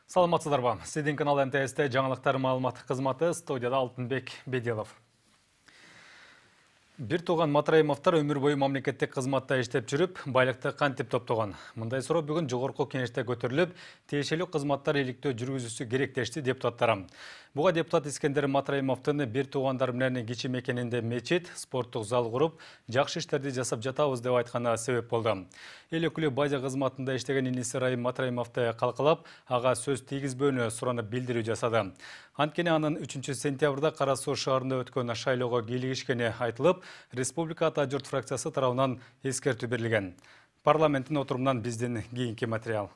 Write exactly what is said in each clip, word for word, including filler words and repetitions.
Саламатсыздарбы. Сиздин канал эм тэ эсте жаңылыктар маалыматтык кызматы, студияда Алтынбек Бедилов. Бир тууган Матраимовдор өмүр бою мамлекеттик кызматта иштеп жүрүп, байлыкты кантип топтогон? Мындай суроо бүгүн жогорку кеңеште көтөрүлүп, тиешелүү кызматтар иликтөө жүргүзүүсү керек дешти депутаттар. Буга депутат Искендер Матраимовдун бир туугандар менен кичи мекенинде мечит, спорттук зал куруп, жакшы иштерди жасап жатабыз деп айтканы себеп болду. Эл өкүлү бажы кызматында иштеген иниси Райым Матраимовду калкалап, ага сөз тийгизбөөнү суранып билдирүү жасады. Анткени анын үчүнчү сентябрда Кара Суу шаарында өткөн шайлоого кийлигишкени айтылып, Республика Ата журт фракциясы тарабынан эскертүү берилген. Парламенттин отурумунан биздин кийинки материал.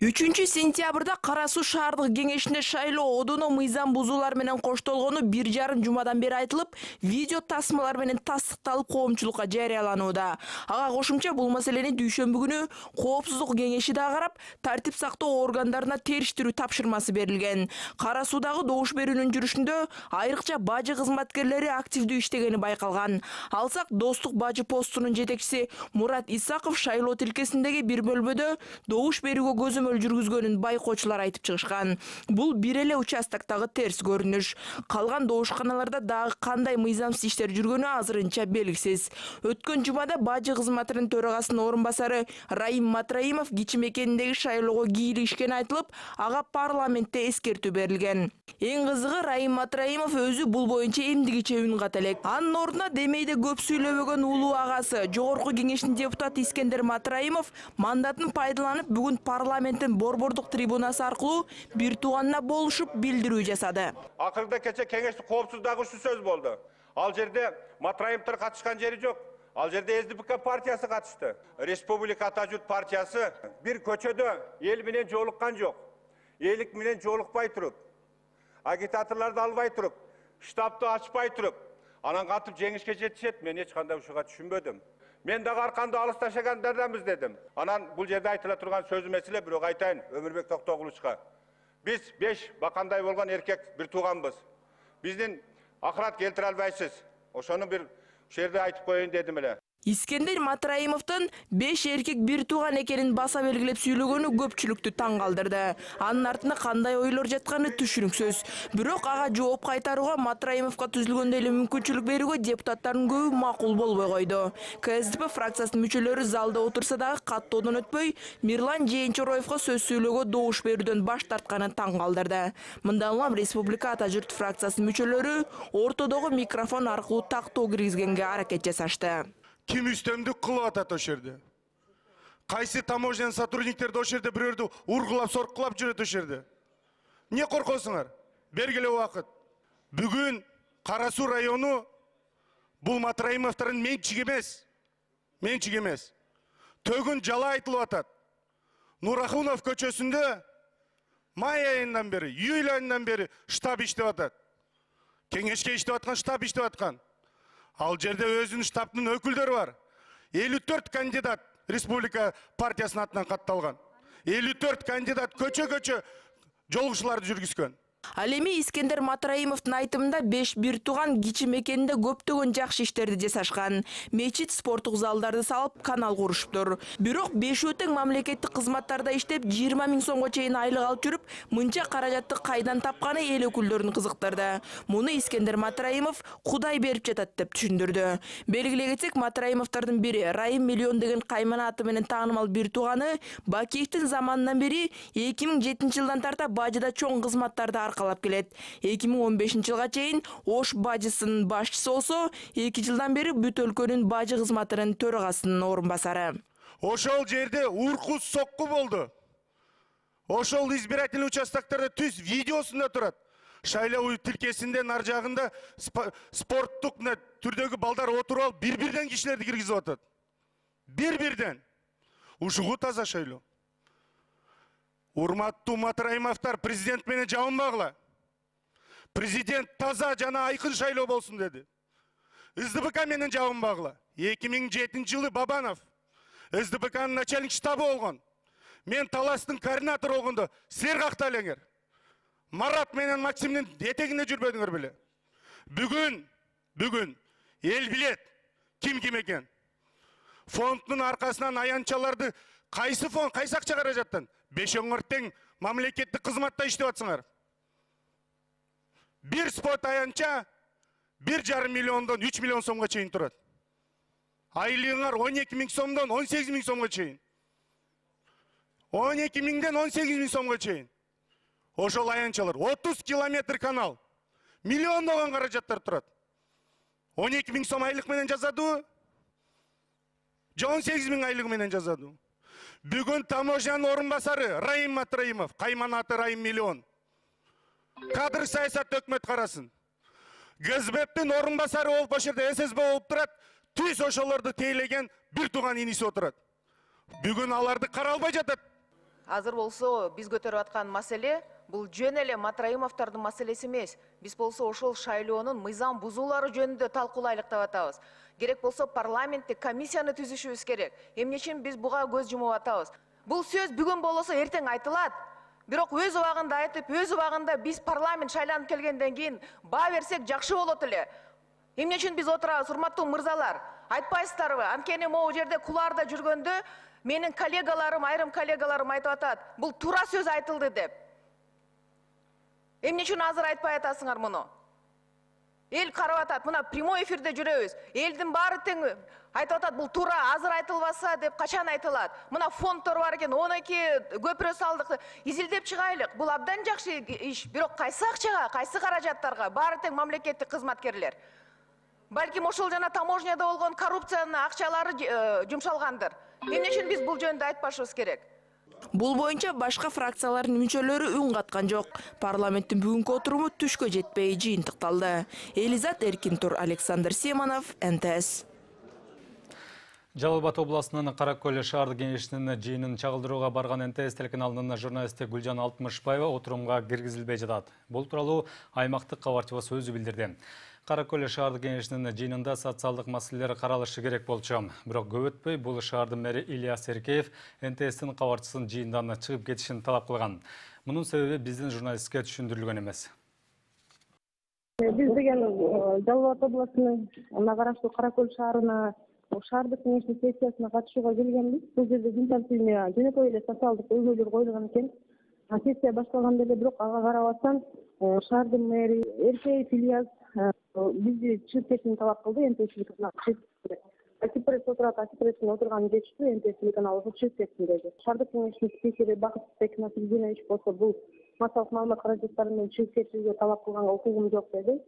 үчүнчү сентябрда Кара Суу шаардык кеңешинде шайлоо одуно мыйзам бузуулар менен коштолгону бир жарым жумадан бери айтылып, видео тасмалар менен тастыкталып коомчулукка жарыяланууда. Ага кошумча бул маселени дүйшөмбү күнү Коопсуздук кеңеши да карап, тартип сактоо органдарына териштирүү тапшырмасы берилген. Кара Суудагы добуш берүүнүн жүрүшүндө айрыкча бажы кызматкерлери активдүү иштегени байкалган. Алсак, Достук бажы постунун жетекчиси Мурат Исаков шайлоо тилкесиндеги бир бөлмөдө добуш берүүгө көзөмөл жүргүзгөнүн байкоочулар айтып чыгышкан. Бул бир эле участоктогу терс көрүнүш. Калган добушканаларда дагы кандай мыйзамсыз иштер жүргөнү азырынча белгисиз. Өткөн жумада бажы кызматынын төрагасынын орун басары Райым Матраимов кичи мекениндеги шайлоого кийлигишкени айтылып, ага парламентте эскертүү берилген. Эң кызыгы, Райым Матраимов өзү бул боюнча эмдигиче үн ката элек. Анын ордуна демейде көп сүйлөбөгөн улуу агасы, жогорку кеңештин депутаты Искендер Матраимов мандатын пайдаланып, бүгүн парламент борбордук трибунасы аркылуу бир тууганына болушуп билдирүү жасады. Акырда кече кеңештин коопсуздугу ушу сөз болду. Ал жерде Матраимовдор катышкан жери жок. Ал жерде эс дэ пэ ка партиясы катышты. Республика Ата журт партиясы бир көчөдө эл менен жолуккан жок. Элик менен жолукпай туруп, агитаторлорду албай туруп, штабты ачпай туруп, анан кантип жеңишке жетишет, мен эч кандай ушуга түшүнбөдүм. Мен дагы арканды алыс ташагандарданбыз дедим. Анан бул жерде айтыла турган сөзүм эсиле, бирок айтайын Өмүрбек Токтогулучка. Биз беш бакандай болгон эркек бир тууганбыз. Биздин акырат келтире албайсыз. Ошону бир ушул жерде айтып коеюн дедим эле. Искендер Матраимовдун беш эркек бир тууган экенин баса белгилеп сүйлөгөнү көпчүлүктү таң калтырды. Анын артында кандай ойлор жатканы түшүнүксүз. Бирок ага жооп кайтарууга Матраимовго түзүлгөндөй эле мүмкүнчүлүк берүүгө депутаттардын көбү макул болбой койду. ка эс дэ пэ фракциясынын мүчөлөрү залда отурса дагы каттоодон өтпөй, Мирлан Жээнчороевго сөз сүйлөөгө добуш берүүдөн баш тартканы таң калтырды. Мындан улам Республика Ата журт фракциясынын мүчөлөрү ортодогу микрофон аркылуу тактоо киргизгенге аракет жасашты. Ким үстөмдүк кылып атат ошол жерде? Кайсы таможня сотрудниктерди ошол жерде бирөөрдү ургулап, соркулап жүрөт ошол жерде? Эмне коркосуңар? Бергиле убакыт. Бүгүн Кара Суу району бул Матраимовдордун менчиги эмес. Менчиги эмес. Төгүн жала айтылып атат. Нурахунов көчөсүндө май айынан бери, июль айынан бери штаб иштеп атат. Кеңешке иштеп аткан штаб иштеп аткан. Ал жерде өзүнүн штабтын өкүлдөрү бар. элүү төрт кандидат Республика партиясынын атынан катталган. элүү төрт кандидат көчө-көчө жолугушууларды жүргүзгөн. Ал эми Искендер Матраимовдун айтымында беш бир тууган кичи мекенинде көптөгөн жакшы иштерди жасашкан. Мечит, спорттук залдарды салып, канал курушуптур. Бирок бешөө тең мамлекеттик кызматтарда иштеп, жыйырма миң сомго чейин айлык алып жүрүп, мынча каражатты кайдан тапканы эл өкүлдөрүн кызыктырды. Муну Искендер Матраимов Кудай берип жатат деп түшүндүрдү. Белгилей кетсек, Матраимовдордун бири Райым Миллион деген каймана аты менен таанымал бир тууганы Бакиевдин заманынан бери эки миң жетинчи жылдан тарта бажыда чоң кызматтарды аркалап келет. эки миң он бешинчи жылга чейин Ош бажысынын башчысы болсо, эки жылдан бери бүт өлкөнүн бажы кызматынын төрагасынын орун басары. Ошол жерде урку сокку болду. Ошол избирательный участоктордо түз видеосунда турат. Шайлоо тилкесинде нар жагында спорттук түрдөгү балдар отуруп алып, бир-бирден кишилерди киргизип атат. Бир-бирден. Ушугу таза шайлоо. Урматтуу Матраимовдор, президент менен жабынбагыла. Президент таза жана айкын шайлоо болсун деди. эс дэ пэ ка менен жабынбагыла. эки миң жетинчи жылы Бабанов эс дэ пэ канын начальник штабы болгон. Мен Таластын координатору болгондо силер какта элеңер. Марат менен Максимдин этегинде жүрбөдүңөр беле. Бүгүн, бүгүн эл билет ким ким экен. Фонддун аркасынан аянтчаларды Кайсы фонд, кайсы акча каражаттан? Бешоңор тең мамлекеттик кызматта иштеп атсыңар. Бир спот аянча бир жарым миллиондон үч миллион сомго чейин турат. Айлыгыңар он эки миң сомдон он сегиз миң сомго чейин. он эки миңден он сегиз миң сомго чейин. Ошол аянчалар отуз километр канал. Миллиондогон каражаттар турат. он эки миң сом айлык менен жазадыбы? же он сегиз миң айлык менен жазадыбы? Бүгүн таможнянын орун басары Раим Матраимов, кайманаты Раим миллион. Кадр саясат өкмөт карасын. Гзбептин орун басары болуп ошол жерде ССБ болуп турат. Түз ошолорду тейлеген бир тууган иниси отурат. Бүгүн аларды каралбай жатат. Азыр болсо биз көтөрүп аткан маселе бул жөн эле Матраимовдордун маселеси эмес. Биз болсо ошол шайлоонун мыйзам бузуулары жөнүндө талкуулайлык деп атабыз. Керек болсо парламентте комиссияны түзүшүбүз керек. Эмне үчүн биз буга көз жумуп атабыз? Бул сөз бүгүн болсо эртең айтылат. Бирок өз убагында айтып, өз убагында биз парламент шайланып келгенден кийин баа берсек жакшы болот эле. Эмне үчүн биз отурабыз, урматтуу мырзалар? Айтпайсыздарбы? Анткени могу жерде куларда жүргөндө менин коллегаларым, айрым коллегаларым айтып атат, бул туура сөз айтылды деп. Эмне үчүн азыр айтпай атасыңар муну? Эл карап атат, мына прямой эфирде жүрөбүз. Элдин баары тең айтып атат, бул туура, азыр айтылбаса деп качан айтылат? Мына фонддор бар экен, он эки көпүрө салдык. Изилдеп чыгайлык. Бул абдан жакшы иш. Бирок кайсы акчага, кайсы каражаттарга? Баары тең мамлекеттик кызматкерлер. Балким ошол жана таможняда болгон коррупциянын акчалары жумшалгандыр. Эмне үчүн биз бул жөнүндө айтпашыбыз керек? Бул боюнча башка фракциялардын мүчөлөрү үн каткан жок. Парламенттин бүгүнкү отуруму түшкө жетпей жыйынтыкталды. Элизат Эркинтур, Александр Семенов, Н Т С. Жалал Абад областынын Каракөл шаардык кеңешинин жыйынын чагылдырууга барган Н Т С телеканалынын журналисти Гүлжан Алтымышбаева отурумга киргизилбей жатат. Бул тууралуу аймактык кабарчыбыз өзү билдирди. Каракөл шаардык кеңешинин жыйынында социалдык маселелер каралышы керек болчу. Бирок көп өтпөй бул шаардын мэри Ильяс Эркеев Н Т Стин кабарчысын жыйындан чыгып кетишин талап кылган. Мунун себеби биздин журналистке түшүндүрүлгөн эмес. Биз деген Жалал Абад областынын караштуу Каракөл шаарына шаардык кеңештин сессиясына катышууга келгенбиз. Бул жерде күн тартибине жөнөкөй эле социалдык көйгөйлөр коюлган экен. Сессия башталганда эле бирок ага карабастан шаардын мэри Эркеев Ильяс бизди чыгып кетүүнү талап кылды. Н Т С телеканалы Акипресс отурат, Акипресстин отурганын жетиштүү, Н Т С телеканалы чыгып кетсин деди. Шаардык кеңештин спикери Бакытбек Насирдинович болсо бул массалык маалымат каражаттары менен чыгып кетүүгө талап кылганга укугум жок деди.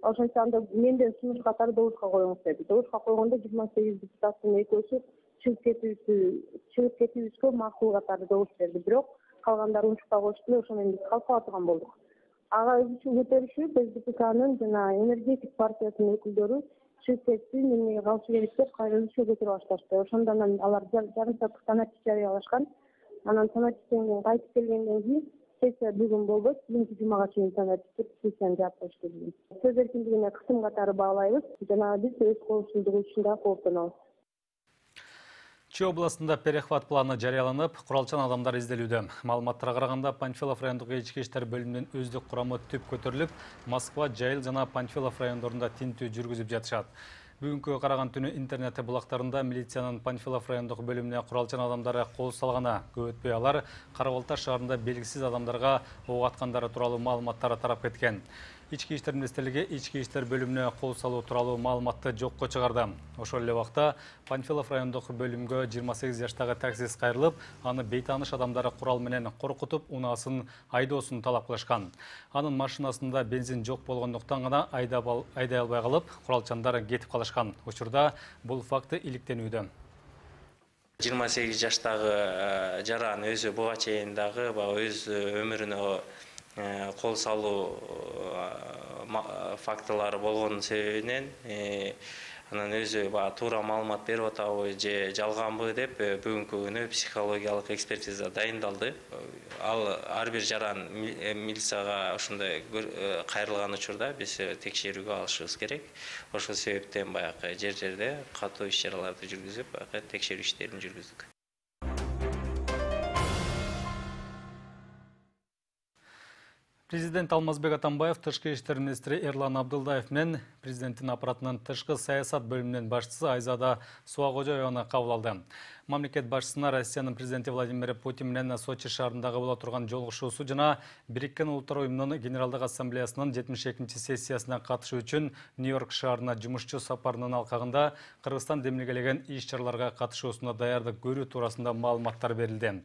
Ошентсе анда менден сунуш катары добушка коюңуз деди. Добушка койгондо жыйырма сегиз депутаттын экөөсү чыгып кетүүбүздү чыгып кетүүбүзгө макул катары добуш берди. Бирок калгандары унчукта коюшту, ошо менен биз калып кала турган болдук. Ага өзүчө көтөрүшүп, С Д П К'нын жана энергетик партиясынын өкүлдөрү чыгып кетти, эмнеге калышы керек деп кайра өзүчө көтөрүп башташты. Ошондон анан алар жарым сааттык санатчы жарыялашкан. Анан санатчыдан кийин кайтып келгенден кийин сессия бүгүн болбойт, бүгүнкү жумага чейин санатчы сессияны жаап коюшту. Сөз эркиндигине кысым катары баалайбыз жана биз өз коопсуздугу үчүн да кооптонобуз. Чүй областында перехват планы жарыяланып, куралчан адамдар изделүүдө. Маалыматтарга караганда Панфилов райондук ички иштер бөлүмүнүн өздүк курамы түп көтөрүлүп, Москва, Жайыл жана Панфилов райондорунда тинтүү жүргүзүп жатышат. Бүгүнкү караган түнү интернет булактарында милициянын Панфилов райондук бөлүмүнө куралчан адамдары кол салганы. Көп өтпөй алар Кара Балта шаарында белгисиз адамдарга ок аткандары тууралуу маалыматтар тарап кеткен. Ички иштер министрлиги ички иштер бөлүмүнө кол салуу тууралуу маалыматты жокко чыгарды. Ошол эле убакта Панфилов райондук бөлүмгө жыйырма сегиз жаштагы таксист кайрылып, аны бейтааныш адамдары курал менен коркутуп, унаасын айдоосун талап кылышкан. Анын машинасында бензин жок болгондуктан гана айдай албай калып, куралчандар кетип калышкан. Учурда бул факты иликтенүүдө. жыйырма сегиз жаштагы жаран өзү буга чейин дагы өз өмүрүнө кол салуу фактылары болгон себебинен анан өзү туура маалымат берип атабы же жалганбы деп бүгүнкү күнү психологиялык экспертиза дайындалды. Ал ар бир жаран милицияга ошондой кайрылган учурда биз текшерүүгө алышыбыз керек. Ошол себептен баягы жер жерде катуу иш чараларды жүргүзүп, текшерүү иштерин жүргүздүк. Президент Алмазбек Атамбаев тышкы иштер министри Эрлан Абдылдаев менен президенттин аппаратынын тышкы саясат бөлүмүнүн башчысы Айзада Суагожоеваны кабыл алды. Мамлекет башчысына Россиянын президенти Владимир Путин менен Сочи шаарындагы боло турган жолугушуусу жана Бириккен Улуттар уюмунун Генералдык ассамблеясынын жетимиш экинчи сессиясына катышуу үчүн Нью-Йорк шаарына жумушчу сапарынын алкагында Кыргызстан демилгелеген иш-чараларга катышуусуна даярдык көрүү туурасында маалыматтар берилди.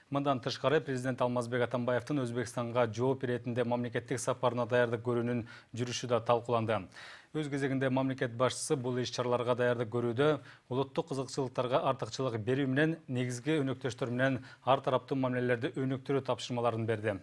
Мындан тышкары президент Алмазбек Атамбаевдин Өзбекстанга жооп иретинде мамлекеттик сапарына даярдык көрүүнүн жүрүшү да талкууланды. Өз кезегинде мамлекет башчысы бул иш-чараларга даярдык көрүүдө улуттук кызыкчылыктарга артыкчылык берүү менен негизги өнөктөштөр менен ар тараптуу мамилелерди өнүктүрүү тапшырмаларын берди.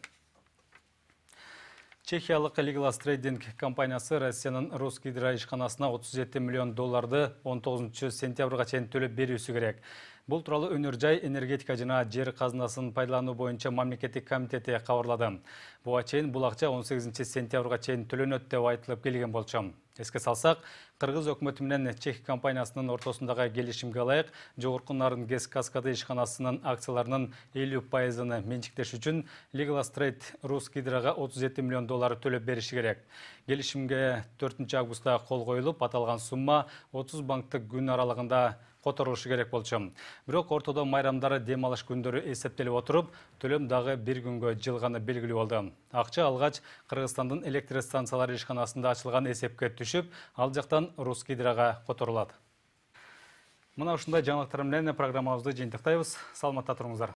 Чехиялык Legalas Trading компаниясы Россиянын Росгидро ишканасына отуз жети миллион долларды он тогузунчу сентябрга чейин төлөп берүүсү керек. Бул тууралуу Өнөр жай, энергетика жана жер казынасын пайдалануу боюнча мамлекеттик комитети кабарлады. Буга чейин бул акча он сегизинчи сентябрга чейин төлөнөт деп айтылып келген болчу. Эске салсак, Кыргыз өкмөтү менен Чех компаниясынын ортосундагы келишимге ылайык Жогорку Нарын ГЭС Каскады ишканасынын акцияларынын элүү пайызын менчиктеш үчүн Legalas Trade Росгидрога отуз жети миллион доллар төлөп бериши керек. Келишимге төртүнчү августта кол коюлуп, аталган сумма отуз банктык күн аралыгында которулушу керек болчу. Бирок ортодо майрамдары дем алыш күндөрү эсептелип отуруп, төлөм дагы бир күнгө жылганы белгилүү болду. Акча алгач Кыргызстандын электр станциялары ишканасында ачылган эсепке түшүп, ал жактан Росгидрога которулат. Мына ушундай жаңылыктар менен программабызды жыйынтыктайбыз. Саламатта туруңуздар.